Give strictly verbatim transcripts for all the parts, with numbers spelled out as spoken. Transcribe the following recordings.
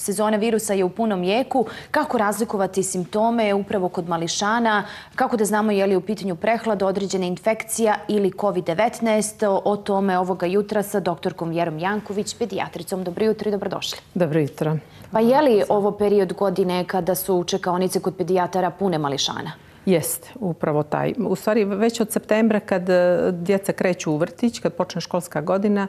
Sezona virusa je u punom jeku. Kako razlikovati simptome upravo kod mališana? Kako da znamo je li u pitanju prehlada, određena infekcija ili kovid devetnaest? O tome ovoga jutra sa doktorkom Vjerom Janković, pedijatricom. Dobro jutro i dobrodošli. Dobro jutro. Pa je li ovo period godine kada su čekaonice kod pedijatara pune mališana? Jest, upravo taj. U stvari, već od septembra kad djeca kreću u vrtić, kad počne školska godina,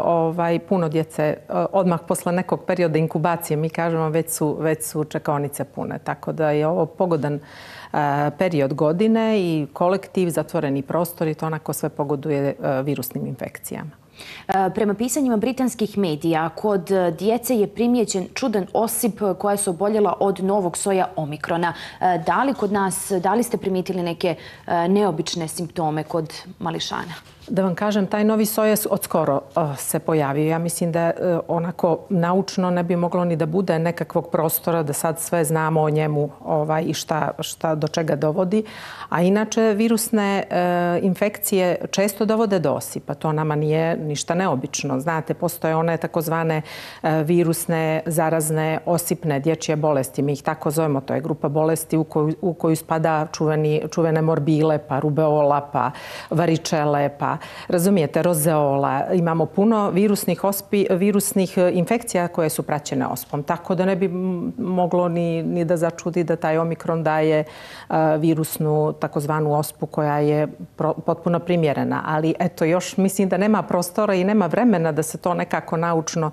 ovaj, puno djece, odmah posle nekog perioda inkubacije, mi kažemo, već su, već su čekaonice pune. Tako da je ovo pogodan period godine i kolektiv, zatvoreni prostori, to onako sve pogoduje virusnim infekcijama. Prema pisanjima britanskih medija, kod djece je primijećen čudan osip koja su oboljela od novog soja omikrona. Da li kod nas, da li ste primijetili neke neobične simptome kod mališana? Da vam kažem, taj novi soj od skoro se pojavio. Ja mislim da onako naučno ne bi moglo ni da bude nekakvog prostora da sad sve znamo o njemu ovaj, i šta, šta do čega dovodi. A inače, virusne e, infekcije često dovode do osipa. To nama nije ništa neobično. Znate, postoje one takozvane e, virusne, zarazne, osipne dječje bolesti. Mi ih tako zovemo. To je grupa bolesti u koju, u koju spada čuveni, čuvene morbile, pa rubeola, pa varičele, pa razumijete, rozeola. Imamo puno virusnih, ospi, virusnih infekcija koje su praćene ospom. Tako da ne bi moglo ni, ni da začudi da taj omikron daje uh, virusnu takozvanu ospu koja je pro, potpuno primjerena. Ali eto, još mislim da nema prostora i nema vremena da se to nekako naučno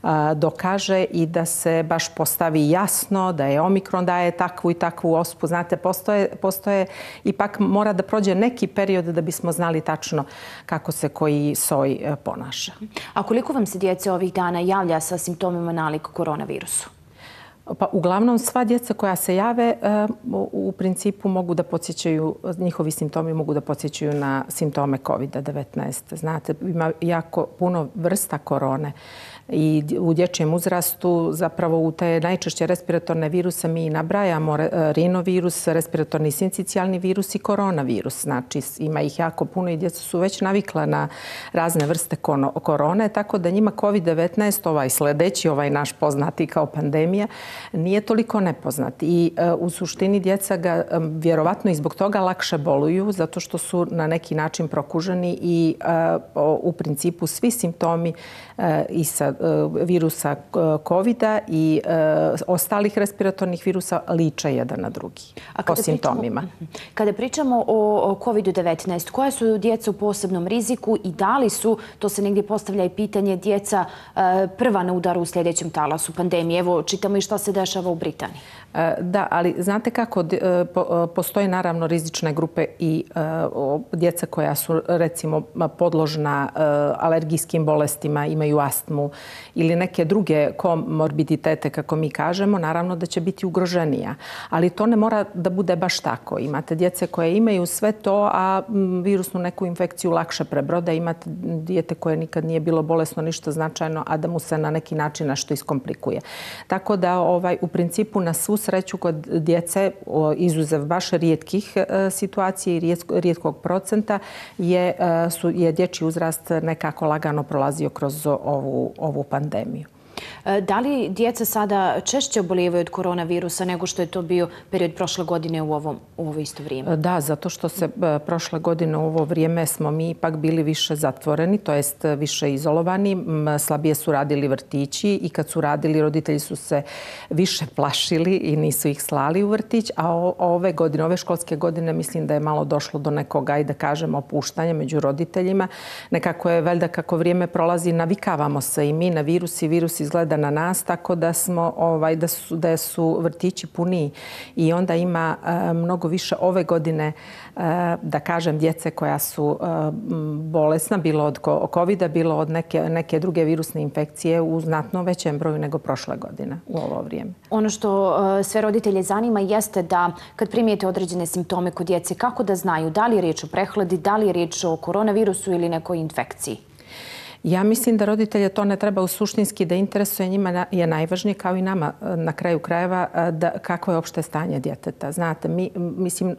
uh, dokaže i da se baš postavi jasno da je omikron daje takvu i takvu ospu. Znate, postoje, postoje ipak mora da prođe neki period da bismo znali tačno kako se koji soj ponaša. A koliko vam se djece ovih dana javlja sa simptomima nalik koronavirusu? Pa uglavnom sva djeca koja se jave u principu mogu da podsjećaju, njihovi simptomi mogu da podsjećaju na simptome kovid devetnaest. Znate, ima jako puno vrsta korone i u dječjem uzrastu zapravo u te najčešće respiratorne viruse mi nabrajamo rinovirus, respiratorni sincicijalni virus i koronavirus. Znači ima ih jako puno i djeca su već navikla na razne vrste korone, tako da njima kovid devetnaest, ovaj sljedeći, ovaj naš poznati kao pandemija, nije toliko nepoznat. I uh, u suštini djeca ga um, vjerovatno i zbog toga lakše boluju, zato što su na neki način prokuženi i uh, u principu svi simptomi uh, i sa uh, virusa kovida i uh, ostalih respiratornih virusa liče jedan na drugi po simptomima. Pričamo, kada pričamo o kovid devetnaest, koja su djeca u posebnom riziku i da li su, to se negdje postavlja i pitanje, djeca uh, prva na udaru u sljedećem talasu pandemije? Evo, čitamo i šta se dešava u Britaniji. Da, ali znate kako, postoje naravno rizične grupe i djeca koja su recimo podložna alergijskim bolestima, imaju astmu ili neke druge komorbiditete, kako mi kažemo, naravno da će biti ugroženija. Ali to ne mora da bude baš tako. Imate djece koje imaju sve to, a virusnu neku infekciju lakše prebrode. Imate dijete koje nikad nije bilo bolesno, ništa značajno, a da mu se na neki način nešto iskomplikuje. Tako da ovaj, u principu na svu sreću kod djece, izuzev baš rijetkih situacija i rijetkog procenta, je, su, je dječji uzrast nekako lagano prolazio kroz ovu, ovu pandemiju. Da li djeca sada češće obolijevaju od koronavirusa nego što je to bio period prošle godine u, ovom, u ovo isto vrijeme? Da, zato što se prošle godine u ovo vrijeme smo mi ipak bili više zatvoreni, to jest više izolovani. Slabije su radili vrtići i kad su radili, roditelji su se više plašili i nisu ih slali u vrtić. A ove godine, ove školske godine, mislim da je malo došlo do nekog, ajde da kažemo, opuštanja među roditeljima. Nekako je, valjda kako vrijeme prolazi, navikavamo se i mi na virus i virus izgleda na nas, tako da smo ovaj da su da su vrtići puniji i onda ima uh, mnogo više ove godine uh, da kažem djece koja su uh, bolesna, bilo od kovida, bilo od neke neke druge virusne infekcije u znatno većem broju nego prošle godine u ovo vrijeme. Ono što uh, sve roditelje zanima jeste da kad primijete određene simptome kod djece, kako da znaju da li je riječ o prehladi, da li je riječ o koronavirusu ili nekoj infekciji? Ja mislim da roditelje to ne treba suštinski da interesuje. Njima je najvažnije, kao i nama na kraju krajeva, da kako je opšte stanje djeteta. Znate, mi, mislim,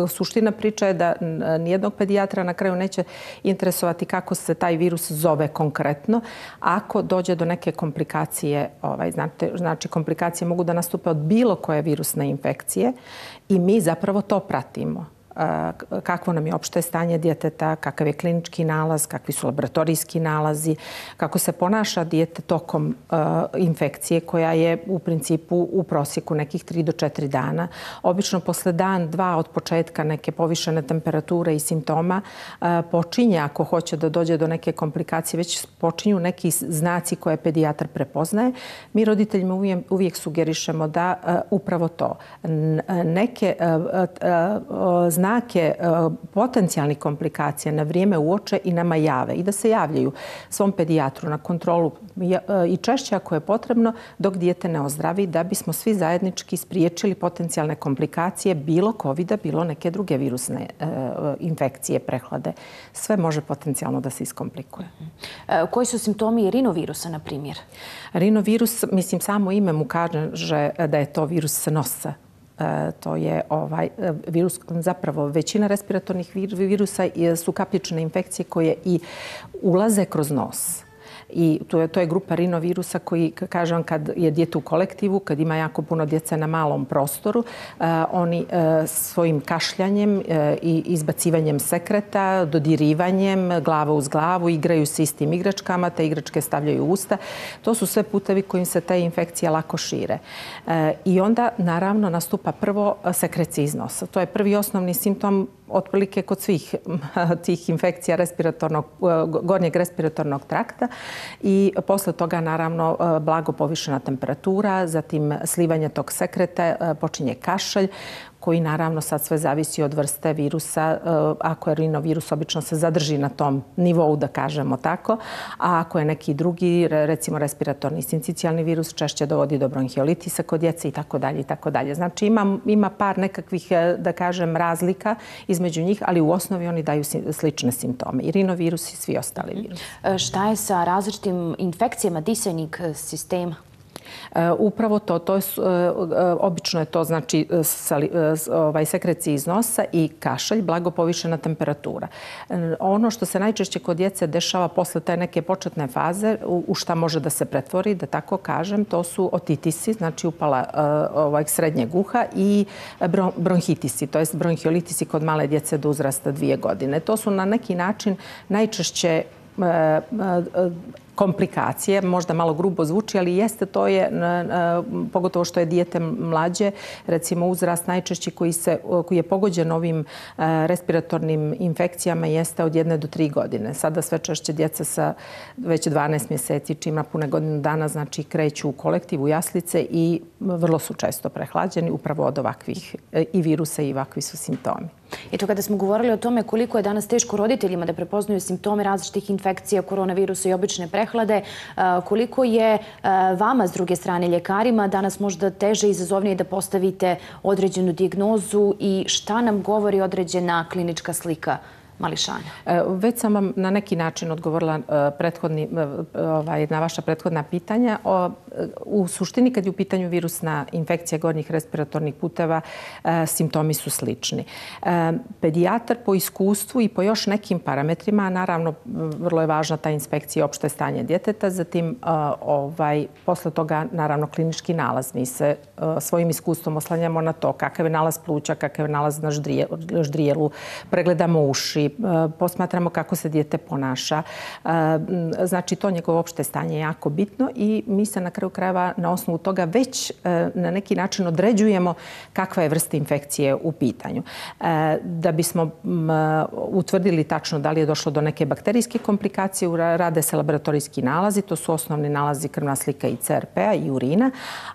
suština priča je da nijednog pedijatra na kraju neće interesovati kako se taj virus zove konkretno. Ako dođe do neke komplikacije, ovaj, znate, znači komplikacije mogu da nastupe od bilo koje virusne infekcije i mi zapravo to pratimo. Kakvo nam je opšte stanje djeteta, kakav je klinički nalaz, kakvi su laboratorijski nalazi, kako se ponaša dijete tokom uh, infekcije koja je u principu u prosjeku nekih tri do četiri dana. Obično posle dan, dva od početka neke povišene temperature i simptoma uh, počinje, ako hoće da dođe do neke komplikacije, već počinju neki znaci koje pedijatar prepoznaje. Mi roditeljima uvijek, uvijek sugerišemo da uh, upravo to. N neke uh, uh, uh, znake potencijalnih komplikacija na vrijeme uoče i nama jave i da se javljaju svom pedijatru na kontrolu i češće ako je potrebno dok dijete ne ozdravi, da bismo svi zajednički spriječili potencijalne komplikacije bilo kovida, bilo neke druge virusne infekcije, prehlade. Sve može potencijalno da se iskomplikuje. Koji su simptomi rinovirusa, na primjer? Rinovirus, mislim, samo ime mu kaže da je to virus nosa. To je ovaj virus, zapravo većina respiratornih virusa su kapljične infekcije koje i ulaze kroz nos. I to je, to je grupa rinovirusa koji, kažem, kad je dijete u kolektivu, kad ima jako puno djece na malom prostoru, uh, oni uh, svojim kašljanjem uh, i izbacivanjem sekreta, dodirivanjem, glava uz glavu, igraju se istim igračkama, te igračke stavljaju u usta. To su sve putevi kojim se te infekcije lako šire. Uh, I onda, naravno, nastupa prvo sekrecija iz nosa. To je prvi osnovni simptom otprilike kod svih tih infekcija respiratornog, gornjeg respiratornog trakta i posle toga naravno blago povišena temperatura, zatim slivanje tog sekreta, počinje kašalj koji naravno sad sve zavisi od vrste virusa. Ako je rinovirus, obično se zadrži na tom nivou, da kažemo tako, a ako je neki drugi, recimo respiratorni sincicijalni virus, češće dovodi do bronhiolitisa kod djece i tako dalje i tako dalje. Znači ima, ima par nekakvih, da kažem, razlika između njih, ali u osnovi oni daju slične simptome. I rinovirus i svi ostali virusi. Šta je sa različitim infekcijama disajnih sistema? Upravo to, to je, obično je to znači ovaj, sekrecija iz nosa i kašalj, blago povišena temperatura. Ono što se najčešće kod djece dešava posle te neke početne faze, u šta može da se pretvori, da tako kažem, to su otitisi, znači upala ovaj, srednjeg uha i bronhitisi, to je bronhiolitisi kod male djece do uzrasta dvije godine. To su na neki način najčešće komplikacije, možda malo grubo zvuči, ali jeste to je, pogotovo što je dijete mlađe, recimo uzrast najčešći koji, se, koji je pogođen ovim respiratornim infekcijama jeste od jedne do tri godine. Sada sve češće djeca sa već dvanaest mjeseci, čim ima pune godinu dana, znači kreću u kolektivu jaslice i vrlo su često prehlađeni upravo od ovakvih i virusa i ovakvi su simptomi. Eto, kada smo govorili o tome koliko je danas teško roditeljima da prepoznaju simptome različitih infekcija, koronavirusa i obične prehlade, koliko je vama, s druge strane, ljekarima, danas možda teže i izazovnije da postavite određenu dijagnozu i šta nam govori određena klinička slika mališana? Već sam vam na neki način odgovorila prethodni, ovaj, na vaša prethodna pitanja. U suštini, kad je u pitanju virusna infekcija gornjih respiratornih puteva, simptomi su slični. Pedijatar po iskustvu i po još nekim parametrima, naravno, vrlo je važna ta inspekcija opšte stanje djeteta, zatim ovaj, posle toga, naravno, klinički nalaz. Mi se svojim iskustvom oslanjamo na to kakav je nalaz pluća, kakav je nalaz na ždrijelu, pregledamo uši, posmatramo kako se dijete ponaša. Znači, to njegovo opšte stanje je jako bitno i mi se na kraju krajeva na osnovu toga već na neki način određujemo kakva je vrsta infekcije u pitanju. Da bismo utvrdili tačno da li je došlo do neke bakterijske komplikacije, rade se laboratorijski nalazi, to su osnovni nalazi krvna slika i C R P-a i urina,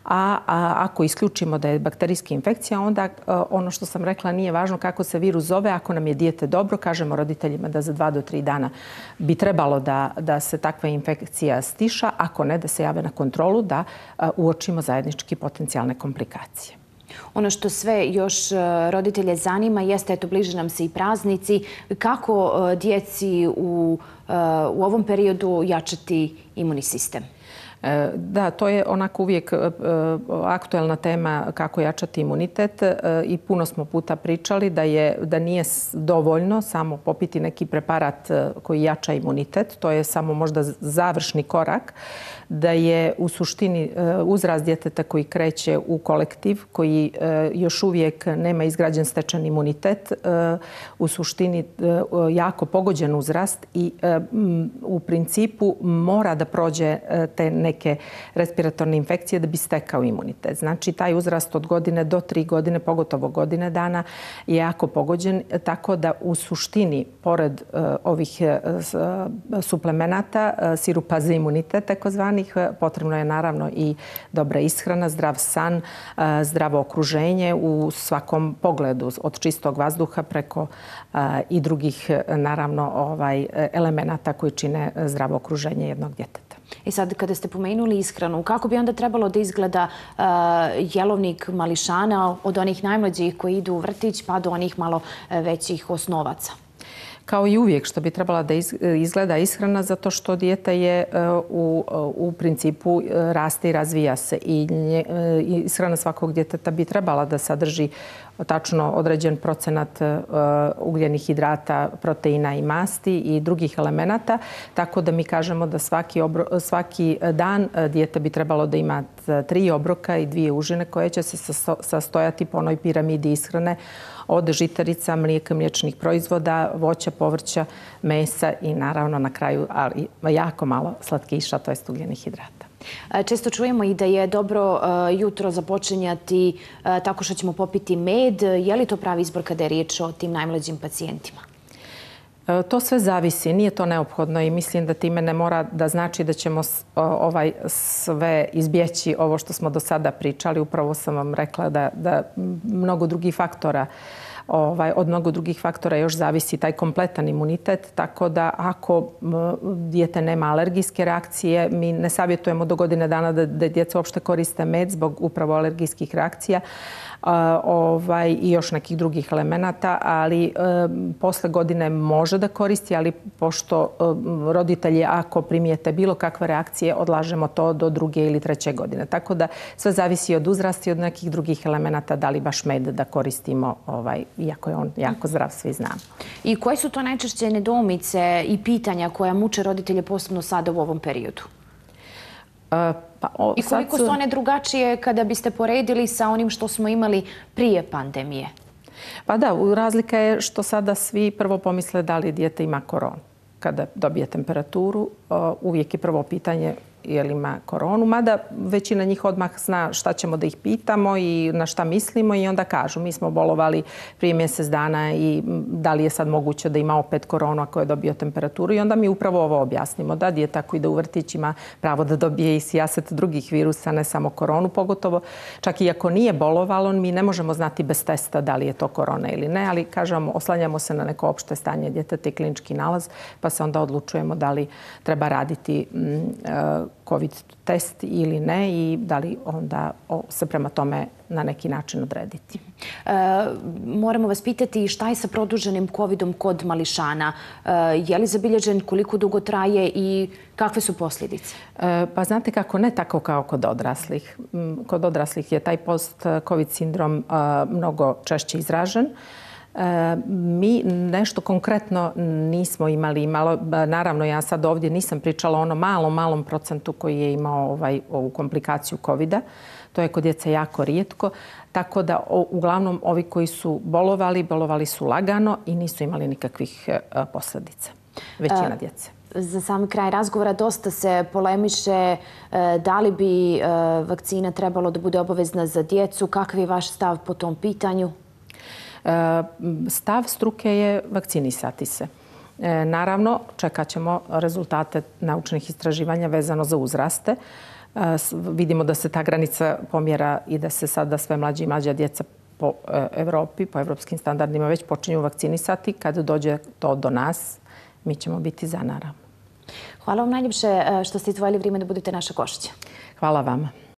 a ako isključimo da je bakterijska infekcija, onda ono što sam rekla nije važno kako se virus zove, ako nam je dijete dobro, kažemo roditeljima da za dva do tri dana bi trebalo da, da se takva infekcija stiša, ako ne da se jave na kontrolu, da uočimo zajednički potencijalne komplikacije. Ono što sve još roditelje zanima jeste, eto, bliže nam se i praznici, kako djeci u, u ovom periodu jačati imunni sistem? Da, to je onako uvijek aktuelna tema kako jačati imunitet i puno smo puta pričali da, je, da nije dovoljno samo popiti neki preparat koji jača imunitet. To je samo možda završni korak. Da je u suštini uzrast djeteta koji kreće u kolektiv, koji još uvijek nema izgrađen stečen imunitet, u suštini jako pogođen uzrast i u principu mora da prođe te neke respiratorne infekcije da bi stekao imunitet. Znači, taj uzrast od godine do tri godine, pogotovo godine dana, je jako pogođen, tako da u suštini, pored ovih suplemenata, sirupa za imunitet, takozvani, potrebno je naravno i dobra ishrana, zdrav san, zdravo okruženje u svakom pogledu, od čistog vazduha preko i drugih naravno ovaj, elemenata koji čine zdravo okruženje jednog djeteta. I sad, kada ste pomenuli ishranu, kako bi onda trebalo da izgleda uh, jelovnik mališana od onih najmlađih koji idu u vrtić pa do onih malo većih osnovaca? Kao i uvijek što bi trebala da izgleda ishrana, zato što dijete je u, u principu raste i razvija se i nje, ishrana svakog djeteta bi trebala da sadrži tačno određen procenat ugljenih hidrata, proteina i masti i drugih elemenata, tako da mi kažemo da svaki, obro, svaki dan dijete bi trebalo da ima tri obroka i dvije užine koje će se sastojati po onoj piramidi ishrane od žitarica, mlijeka, mliječnih proizvoda, voća, povrća, mesa i naravno na kraju ali jako malo slatkiša, to jest ugljenih hidrata. Često čujemo i da je dobro jutro započinjati tako što ćemo popiti med. Je li to pravi izbor kada je riječ o tim najmlađim pacijentima? To sve zavisi, nije to neophodno i mislim da time ne mora da znači da ćemo ovaj sve izbjeći ovo što smo do sada pričali. Upravo sam vam rekla da, da mnogo drugih faktora Ovaj, od mnogo drugih faktora još zavisi taj kompletan imunitet, tako da ako dijete nema alergijske reakcije, mi ne savjetujemo do godine dana da, da djeca uopšte koriste med zbog upravo alergijskih reakcija ovaj, i još nekih drugih elemenata, ali e, posle godine može da koristi, ali pošto e, roditelji ako primijete bilo kakve reakcije, odlažemo to do druge ili treće godine. Tako da sve zavisi od uzrasta i od nekih drugih elemenata, da li baš med da koristimo, ovaj, iako je on jako zdrav, svi znamo. I koje su to najčešće nedoumice i pitanja koja muče roditelje posebno sada u ovom periodu? Uh, Pa, o, I koliko su one drugačije kada biste poredili sa onim što smo imali prije pandemije? Pa da, razlika je što sada svi prvo pomisle da li dijete ima koronu. Kada dobije temperaturu, uvijek je prvo pitanje je li ima koronu, mada većina njih odmah zna šta ćemo da ih pitamo i na šta mislimo i onda kažu mi smo bolovali prije mjesec dana i da li je sad moguće da ima opet koronu ako je dobio temperaturu i onda mi upravo ovo objasnimo. Da, dijete ako ide u vrtić ima pravo da dobije i sijaset drugih virusa, ne samo koronu, pogotovo čak i ako nije bolovalo, mi ne možemo znati bez testa da li je to korona ili ne, ali kažemo, oslanjamo se na neko opšte stanje djeteta i klinički nalaz, pa se onda odlučujemo da li treba raditi mm, COVID test ili ne i da li onda se prema tome na neki način odrediti. E, moramo vas pitati šta je sa produženim covidom kod mališana. E, je li zabilježen, koliko dugo traje i kakve su posljedice? E, pa znate kako, ne tako kao kod odraslih. Kod odraslih je taj post-covid sindrom a, mnogo češće izražen. E, mi nešto konkretno nismo imali. Malo, naravno, ja sad ovdje nisam pričala o onom malom, malom procentu koji je imao ovaj, ovu komplikaciju covida. To je kod djece jako rijetko. Tako da, o, uglavnom, ovi koji su bolovali, bolovali su lagano i nisu imali nikakvih e, posljedica. Većina djece. Za sam kraj razgovora dosta se polemiše da li bi vakcina trebalo da bude obavezna za djecu. Kakav je vaš stav po tom pitanju? Stav struke je vakcinisati se. Naravno, čekat ćemo rezultate naučnih istraživanja vezano za uzraste. Vidimo da se ta granica pomjera i da se sada sve mlađe i mlađa djeca po Evropi, po evropskim standardima već počinju vakcinisati. Kad dođe to do nas, mi ćemo biti za, naravno. Hvala vam najljepše što ste izdvojili vrijeme da budete naša gošća. Hvala vama.